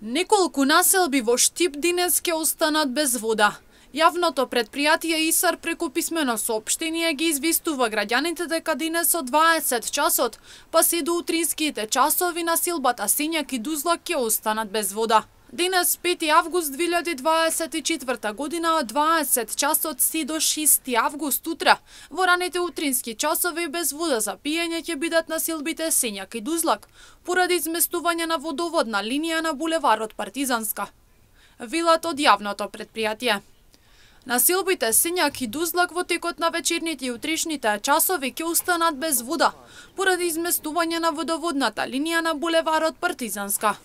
Неколку населби во Штип денес ќе останат без вода. Јавното предпријатие ИСАР преку писмено соопштение ги известува граѓаните дека денес од 20 часот, па се до утринските часови на силбата Сењак и Дузлак ќе останат без вода. Денес 5 август 2024 година од 20 часот се до 6 август утре. Во раните утрински часови без вода за пиење ќе бидат населбите Сењак и Дузлак, поради изместување на водоводна линија на булеварот Партизанска. Велат од јавното предпријатие. Населбите Сењак и Дузлак во текот на вечерните и утрешните часови ќе останат без вода, поради изместување на водоводната линија на булеварот Партизанска.